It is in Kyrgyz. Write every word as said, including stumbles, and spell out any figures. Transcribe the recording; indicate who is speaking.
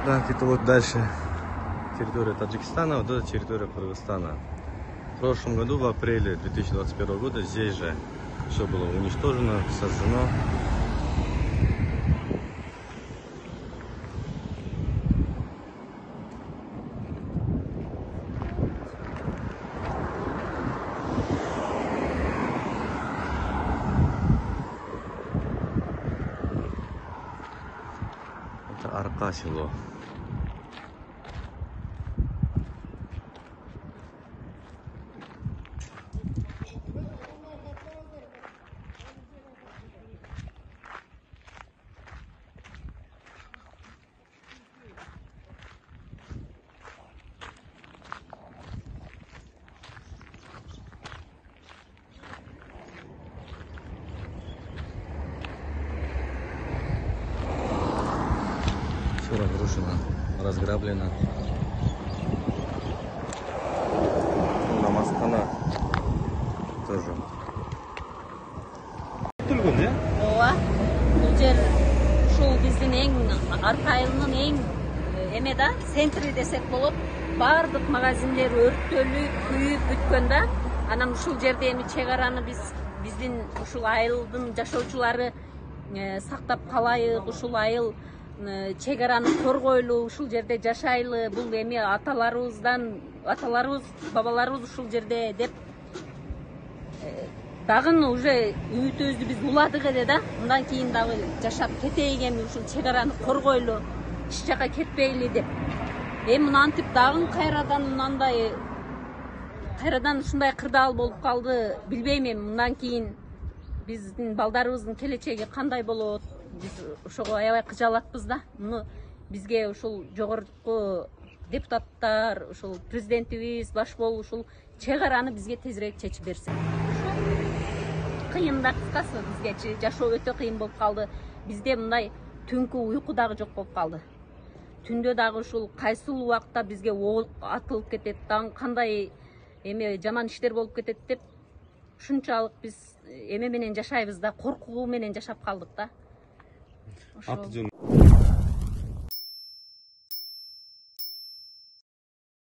Speaker 1: Так, это вот дальше территория Таджикистана, вот это территория Кыргызстана. В прошлом году, в апреле две тысячи двадцать первого года, здесь же все было уничтожено, сожжено. Это Арка село. Все разрушено, разграблено. Намазхана тоже. Тургун, да?
Speaker 2: Ооба. Бул жер ушул биздин эң Арка айылынын эң эме да, центри десек болот. Бардык магазиндер өрттөлүп, күйүп бүткөн да. Анан ушул жерде эми чек араны биз биздин ушул айылдын жашоочулары сактап калайык, ушул айыл чек араны коргойлу, ушул жерде жашайлы, бул эми аталарыбыздан, аталарыбыз, бабаларыбыз ушул жерде деп дагы уже үмүтүбүздү биз уладык эле да. Мындан кийин дагы жашап кетейик, эми ушул чек араны коргойлу, эч жака кетпейли деп. Эми мынантип дагы кайрадан мынандай кайрадан ушундай кырдаал болуп калды, билбейм эми мындан кийин биздин балдарыбыздын келечеги кандай болот. Биз ошого аябай кыжалатпыз да. Муну бизге ушул жогорку депутаттар, ушул президентибиз баш болуп ушул чек араны бизге тезирээк чечип берсе. Кыйын да, кыскасы бизгечи жашоо өтө кыйын болуп калды. Бизде мындай түнкү уйку дагы жок болуп калды. Түндө дагы ушул кайсыл убакта бизге оол атылып кетет, дагы кандай эме жаман иштер болуп кетет деп ушунчалык биз эме менен жашайбыз да, коркуу менен жашап калдык да.
Speaker 1: Аты жөн